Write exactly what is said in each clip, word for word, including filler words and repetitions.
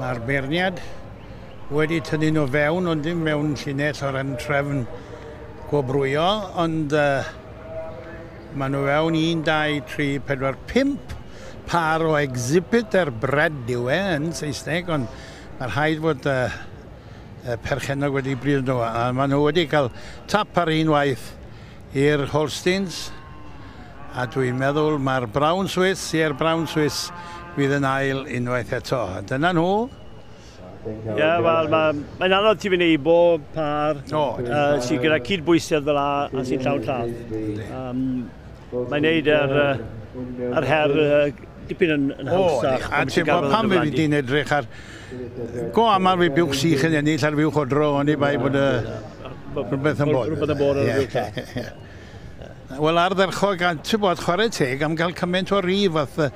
Mae'r beirniad wedi tynnu nhw fewn, ond dim mewn llinell o ran trefn gwobrwyo, ond uh, maen nhw fewn un, dau, tri, pedwar, pump par o exhibitor bred yw e yn Saesneg, ond mae'r rhaid fod uh, y perchennog wedi brido nhw, a maen nhw wedi cael tap ar un waith i'r Holsteins, a dwi'n meddwl mae'r Brown Swiss, ie'r Brown Swiss fydd yn ail unwaith eto. A dyna nhw. Ie, yeah, wel, mae'n mae anodd ti fynd eibo par O, uh, sydd gyda cydbwysedd fel 'a a sy'n llawn llath. Um, mae'n neud yr, uh, yr her uh, dipyn yn, yn O, hawsach. a ti'n bod pan fe di'n edrych ar... Go aml fi buwch sych yn ennill ar fuwch odro, ond i bai bod y rhywbeth yn bod. Rhywbeth yn bod ar y Ie, fuwch llath. ie, ie. Wel, ardderchog, a ti'n bod, chwarae teg am gael cymaint o rif, fath y-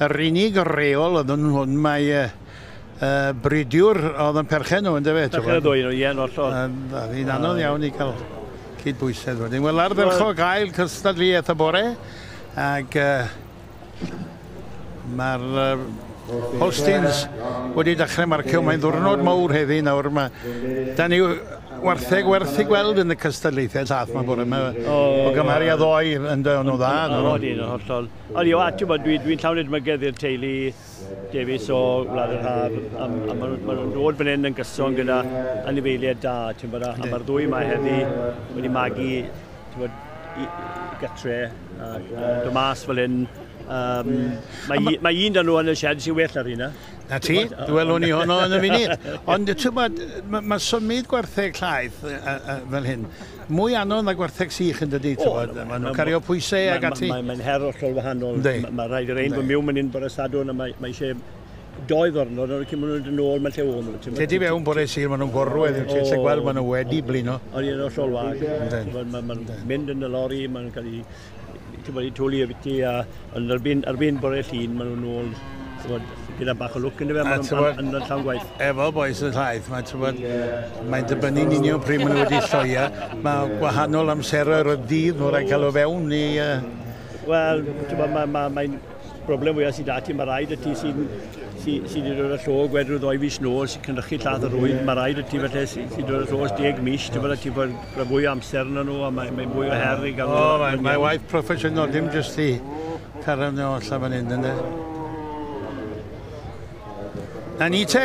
yr unig reol oedd yn hwn, mae uh, uh, bridiwr oedd yn perchen nhw, yndyfe? ti'n Perchen y gwbod? ddwy nhw, ie, yn hollol. A hi'n anodd iawn i gael cydbwysedd wedyn. Wel, ardderchog ail cystadleuaeth y bore, ac uh, mae'r uh, Holsteins wedi dechrau marcio. Mae'n ddwrnod mawr heddi nawr. Mae, da ni wartheg werth i gweld yn y cystadlaethau llath 'ma bore yma. O, O gymharu â ddoe yn dy nhw dda. O, nhw. Odyn, yn hollol. Ond a ti'n bod, dwi'n dwi llawn edmygedd i'r teulu Davies o Wlad yr Haf, a, a maen nhw'n ma nhw'n dod fan hyn yn gyson gyda anifeiliaid da, ti'n bod, a, a mae'r ddwy yma heddi wedi magu, ti'n bod, i, i gatre, a, a dod mas fel hyn. Um, mae, mae un da nhw yn y shed sy'n well ar hynna. Na ti, welwn ni honno yn y funud. Ond ti'n bod, mae ma symud gwartheg llaeth uh, uh, fel hyn, mwy anodd na gwartheg sych yn dydi, ti'n bod. Maen nhw'n cario pwysau ac ati. Mae'n mae, her hollol wahanol. Yndi. Mae ma rhaid i'r ein Yndi. bod miwn mynd bore Sadwrn a mae, mae eisiau doi ddwrnod, ond cyn maen nhw'n dod nôl, mae'n lle o'n nhw. ti'n Te di fewn bore Sul, maen nhw'n gorwedd, ti'n gallu gweld maen nhw wedi blino. Ond i'n hollol wag. Yndi. Mae'n ma, ma mynd yn y lori, maen nhw'n cael ei ti'n bod, i twlu y biti, a ond erbyn, erbyn bore Llun, maen nhw'n nôl, ti'n bod, gyda bach o lwc yn fe, A maen ti'n bod- nhw'n yn llawn gwaith. Efo bois y llaeth, mae, ti'n bod, mae'n dibynnu'n union pryd maen nhw wedi lloia. Mae gwahanol amseroedd y dydd nhw'n rhaid cael o fewn i... Uh, Wel, ti'n bod, mae'n ma, mae broblem fwyaf sydd 'da ti, mae rhaid y ti sy'n sy, sy wedi dod â llog wedi rhyw ddoi fis nôl, sy'n cynrychu llath yr rwyd, mae rhaid y ti felly sy'n sy dod â llog deg mis, ti'n bod, ti bod fwy o amser yn nhw, a mae'n mae fwy o her i gael O, mae, mae waith proffesiynol, dim jyst i cario nhw allan fan hyn, ynddo. Na ni te,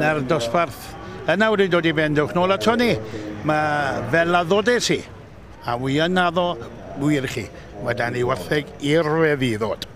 na'r dosbarth yna wedi dod i ben, dewch nôl ato ni. Mae fel addodes i, a wi yn addo wir chi, mae da ni wartheg i'r weddi ddod.